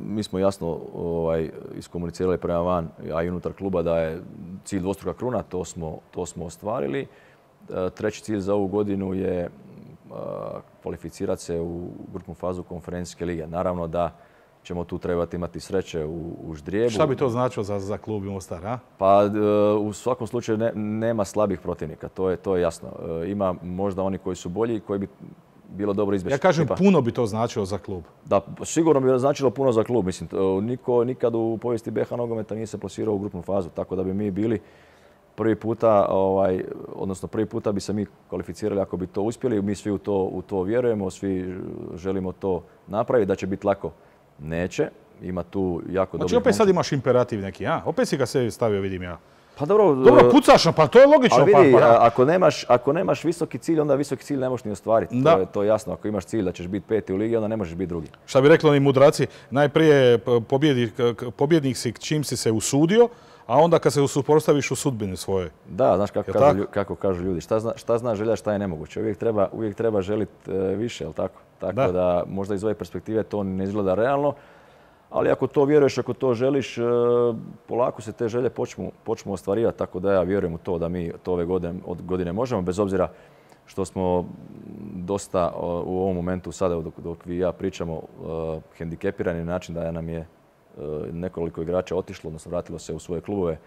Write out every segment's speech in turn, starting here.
Mi smo jasno iskomunicirali prema van, a i unutar kluba da je cilj dvostruka kruna, to smo ostvarili. Treći cilj za ovu godinu je kvalificirati se u grupnu fazu konferencijske lige. Naravno da ćemo tu trebati imati sreće u ždrijebu. Šta bi to značilo za klub Mostar, a? Pa u svakom slučaju nema slabih protivnika, to je jasno. Ima možda oni koji su bolji i koji bi bilo dobro izbjeći. Ja kažem, puno bi to značilo za klub. Da, sigurno bi značilo puno za klub. Mislim, niko nikad u povijesti BiH nogometa nije se plasirao u grupnu fazu, tako da bi mi bili prvi puta, odnosno prvi puta bi se mi kvalificirali ako bi to uspjeli. Mi svi u to vjerujemo, svi želimo to napraviti, da će biti lako. Neće, ima tu jako dobro. Znači opet sad imaš imperativ neki, a? Opet si ga sebi stavio, vidim ja. Pa dobro, pucaš, pa to je logično. Ali vidi, ako nemaš visoki cilj, onda visoki cilj ne možeš ni ostvariti. To je jasno. Ako imaš cilj da ćeš biti peti u ligi, onda ne možeš biti drugi. Šta bi rekli oni mudraci, najprije pobjednik si čim si se usudio, a onda kad se suprotstaviš u sudbini svoje. Da, znaš kako kažu ljudi. Šta zna želja, šta je nemoguće. Uvijek treba želiti više, jel tako? Tako da možda iz ove perspektive to ne izgleda realno. Ali ako to vjeruješ, ako to želiš, polako se te želje počnu ostvarivati. Tako da ja vjerujem u to da mi to ove godine možemo, bez obzira što smo dosta u ovom momentu sada dok vi i ja pričamo hendikepirani na način da nam je nekoliko igrača otišlo, odnosno vratilo se u svoje klubove.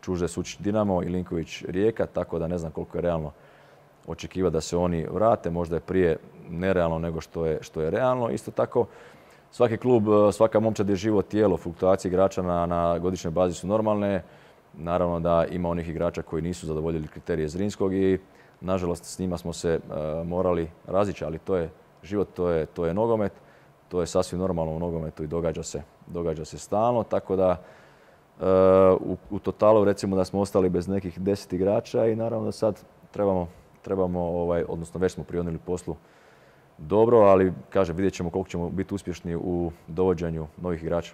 Čuže Sučić Dinamo i Linković Rijeka, tako da ne znam koliko je realno očekivati da se oni vrate. Možda je prije nerealno nego što je realno. Isto tako, svaki klub, svaka momčad je živo tijelo, fluktuacije igrača na godišnjoj bazi su normalne. Naravno da ima onih igrača koji nisu zadovoljili kriterije Zrinskog i nažalost s njima smo se morali razići, ali to je život, to je nogomet, to je sasvim normalno u nogometu i događa se stalno, tako da u totalu recimo da smo ostali bez nekih 10 igrača i naravno da sad trebamo odnosno već smo prionuli poslu dobro, ali kažem, vidjet ćemo koliko ćemo biti uspješni u dovođenju novih igrača.